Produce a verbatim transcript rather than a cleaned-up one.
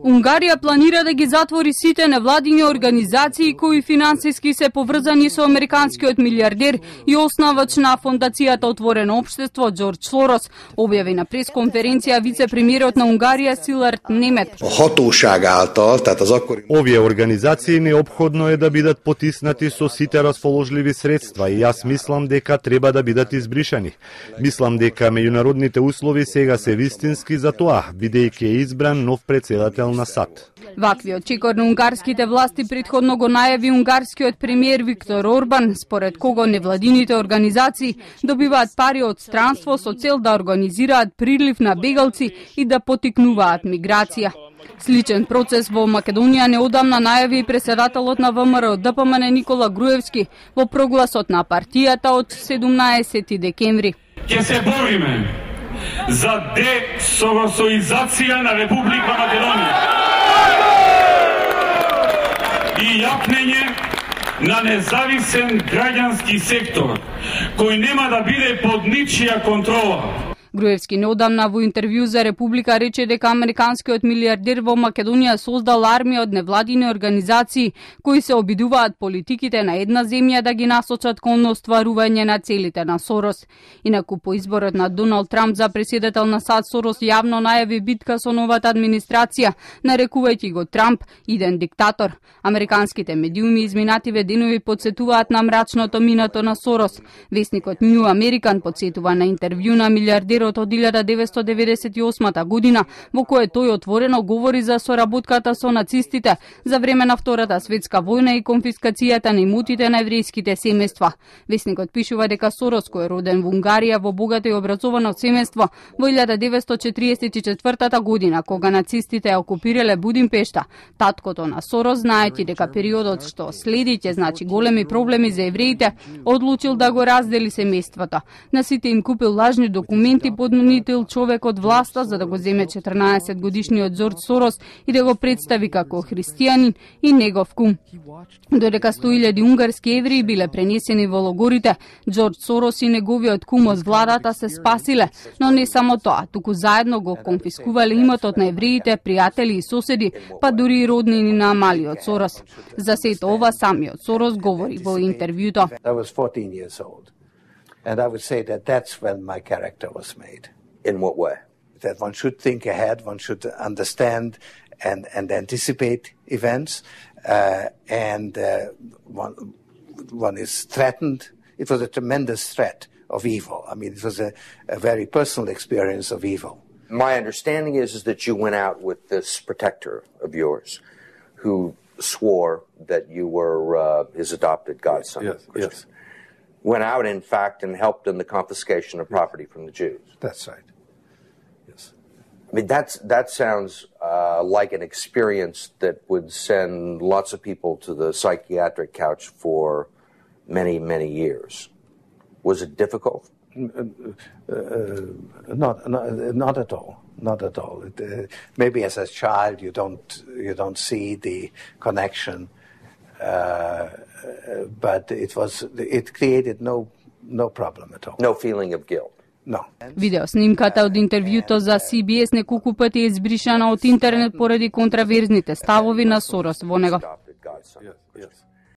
Унгарија планира да ги затвори сите невладини организации кои финансиски се поврзани со американскиот милиардер и основач на фондацијата Отворено општество Џорџ Сорос, објави на пресконференција вице-премиерот на Унгарија Силард Немет. Овие организации неопходно е да бидат потиснати со сите расположливи средства и јас мислам дека треба да бидат избришани. Мислам дека меѓународните услови сега се вистински за тоа, бидејќи е избран нов председател на САД. Ваквиот чекор на унгарските власти претходно го најави унгарскиот премиер Виктор Орбан, според кого невладините организации добиваат пари од странство со цел да организираат прилив на бегалци и да потикнуваат миграција. Сличен процес во Македонија неодамна најави и председателот на ВМРО Д П М Н Никола Груевски во прогласот на партијата од седумнаесети декември. Ќе се бориме за десоросоизација на Република Македонија и јапнење на независен граѓански сектор кој нема да биде под ничија контрола. Груевски неодамна во интервју за Република рече дека американскиот милиардер во Македонија создал армија од невладини организации кои се обидуваат политиките на една земја да ги насочат кон остварување на целите на Сорос. Инаку по изборот на Доналд Трамп за председател на САД, Сорос јавно најави битка со новата администрација, нарекувајќи го Трамп иден диктатор. Американските медиуми изминативе денови подсетуваат на мрачното минато на Сорос. Весникот New American подсетува на интервју на милиардерот од илјада деветстотини деведесет и осма година, во кое тој отворено говори за соработката со нацистите за време на Втората светска војна и конфискацијата на имотите на еврејските семејства. Весникот пишува дека Сорос, кој е роден во Унгарија во богато и образовано семејство, во илјада деветстотини четиридесет и четвртата година, кога нацистите ја окупирале Будимпешта, таткото на Сорос, знаејќи дека периодот што следи ќе значи големи проблеми за евреите, одлучил да го раздели семејството. На сите им купил лажни документи, поднудил човек од власта за да го земе четрнаесет годишниот Џорџ Сорос и да го представи како христијанин и негов кум. Додека сто илјади унгарски евреи биле пренесени во логорите, Џорџ Сорос и неговиот кум од владата се спасиле, но не само тоа, туку заедно го конфискувале имотот на евреите, пријатели и соседи, па дури и роднини на малиот Сорос. За сето ова самиот Сорос говори во интервјуто. And I would say that that's when my character was made. In what way? That one should think ahead, one should understand and, and anticipate events, uh, and uh, one, one is threatened. It was a tremendous threat of evil. I mean, it was a, a very personal experience of evil. My understanding is, is that you went out with this protector of yours who swore that you were uh, his adopted godson. Yes, yes. Went out, in fact, and helped in the confiscation of property from the Jews. That's right. Yes. I mean, that's, that sounds uh, like an experience that would send lots of people to the psychiatric couch for many, many years. Was it difficult? Uh, uh, not, not, not at all. Not at all. It, uh, maybe as a child you don't you don't see the connection. Uh, but it was it created no no problem at all. No feeling of guilt. No. Видеоснимката од интервјуто за Си Би Ес неколку пати е избришана од интернет поради контраверзните ставови на Сорос во него. Yes, yes.